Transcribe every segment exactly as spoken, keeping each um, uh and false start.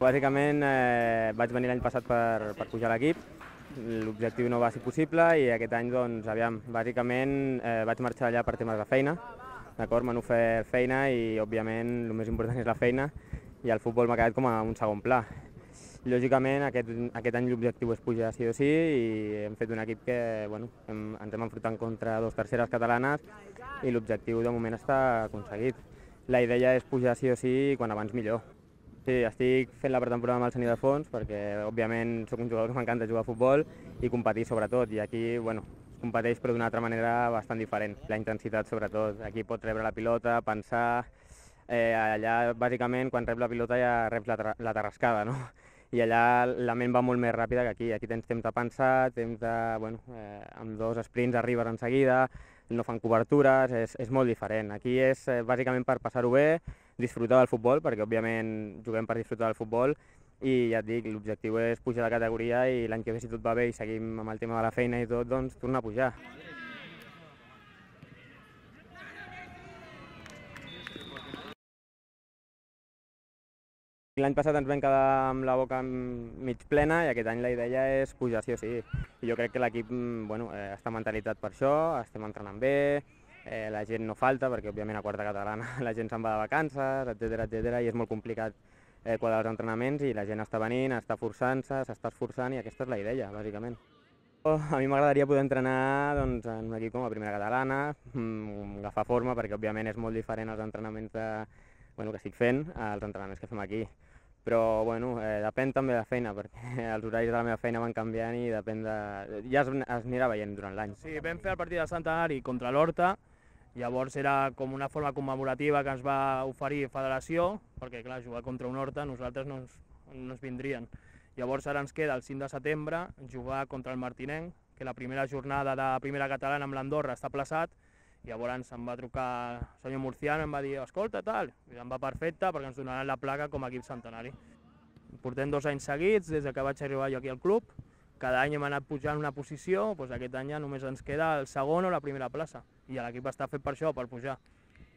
Bàsicament eh, vaig venir l'any passat per, per pujar a l'equip, l'objectiu no va ser possible i aquest any, doncs, aviam, bàsicament eh, vaig marxar allà per temes de feina, d'acord? M'han ofert feina i, òbviament, el més important és la feina i el futbol m'ha quedat com a un segon pla. Lògicament, aquest, aquest any l'objectiu és pujar sí o sí i hem fet un equip que, bueno, hem, ens hem enfrontat contra dos terceres catalanes i l'objectiu de moment està aconseguit. La idea és pujar sí o sí i quan abans millor. Sí, estic fent la pretemporada amb el Seny de Fons perquè, òbviament, sóc un jugador que m'encanta jugar a futbol i competir sobretot. I aquí, bueno, es competeix però d'una altra manera bastant diferent. La intensitat sobretot. Aquí pots rebre la pilota, pensar... Eh, allà, bàsicament, quan reps la pilota ja reps la, la tarrascada, no? I allà la ment va molt més ràpida que aquí. Aquí tens temps de pensar, temps de... Bueno, eh, amb dos sprints arribes en seguida, no fan cobertures, és, és molt diferent. Aquí és eh, bàsicament per passar-ho bé, disfrutar del futbol, perquè òbviament juguem per disfrutar del futbol, i ja et dic, l'objectiu és pujar de categoria i l'any que ve, si tot va bé i seguim amb el tema de la feina i tot, doncs tornar a pujar. L'any passat ens vam quedar amb la boca mig plena i aquest any la idea és pujar sí o sí. I jo crec que l'equip bueno, eh, està mentalitzat per això, estem entrenant bé, eh, la gent no falta perquè òbviament a quarta catalana la gent se'n va de vacances, etcètera, etcètera, i és molt complicat eh, quadrar els entrenaments i la gent està venint, està forçant-se, s'està esforçant i aquesta és la idea, bàsicament. A mi m'agradaria poder entrenar doncs, en un equip com a primera catalana, agafar forma perquè òbviament és molt diferent els entrenaments de, bueno, que estic fent als entrenaments que fem aquí. Però bueno, eh, depèn també de la feina, perquè els horaris de la meva feina van canviant i depèn de... ja es, es anirà veient durant l'any. Sí, vam fer el partit de Centenari contra l'Horta, llavors era com una forma commemorativa que ens va oferir Federació, perquè clar, jugar contra un Horta nosaltres no ens, no ens vindrien. Llavors ara ens queda el cinc de setembre jugar contra el Martinenc, que la primera jornada de primera catalana amb l'Andorra està plaçat. Llavors em va trucar el senyor Murciano i em va dir, escolta, tal, i em va perfecte perquè ens donaran la placa com a equip centenari. Portem dos anys seguits, des que vaig arribar jo aquí al club, cada any hem anat pujant una posició, doncs aquest any ja només ens queda el segon o la primera plaça, i l'equip està fet per això, per pujar.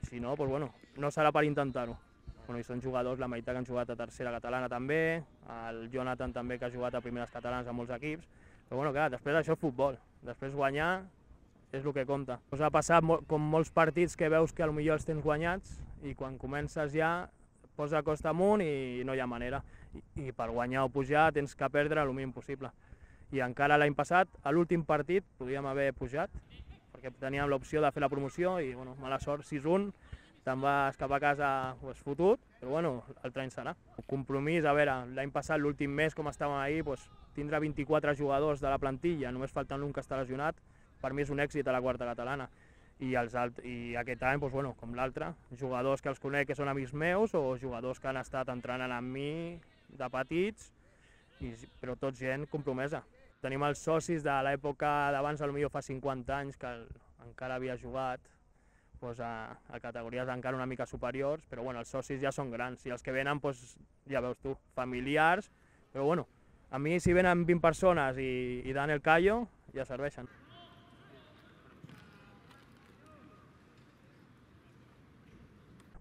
Si no, doncs bueno, no serà per intentar-ho. Bueno, i són jugadors, la meitat que han jugat a tercera catalana també, el Jonathan també que ha jugat a primeres catalanes a molts equips, però bueno, clar, després això és futbol, després guanyar és el que compta. Us ha passat com molts partits que veus que potser els tens guanyats i quan comences ja posa costa amunt i no hi ha manera. I, i per guanyar o pujar tens que perdre el mínim possible. I encara l'any passat, a l'últim partit, podíem haver pujat, perquè teníem l'opció de fer la promoció i, bueno, mala sort, sis un, te'n vas cap a casa pues, fotut, però bueno, l'altre any serà. El compromís, a veure, l'any passat, l'últim mes, com estàvem ahir, pues, tindrà vint-i-quatre jugadors de la plantilla, només faltant l'un que està lesionat, per mi és un èxit a la quarta catalana. I, els alt... I aquest any, doncs, bueno, com l'altre, jugadors que els conec que són amics meus o jugadors que han estat entrenant amb mi de petits, i... però tots gent compromesa. Tenim els socis de l'època d'abans, potser fa cinquanta anys, que el... encara havia jugat doncs, a... a categories encara una mica superiors, però bueno, els socis ja són grans i els que venen, doncs, ja veus tu, familiars, però bueno, a mi si venen vint persones i, i dan el callo, ja serveixen.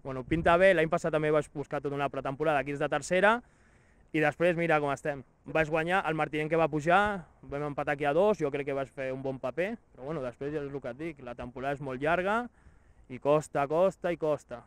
Bueno, pinta bé, l'any passat també vaig buscar tota una pretemporada equips de tercera i després mira com estem. Vaig guanyar el Martinenc que va pujar, vam empatar aquí a dos, jo crec que vaig fer un bon paper, però bueno, després ja és el que et dic, la temporada és molt llarga i costa, costa i costa.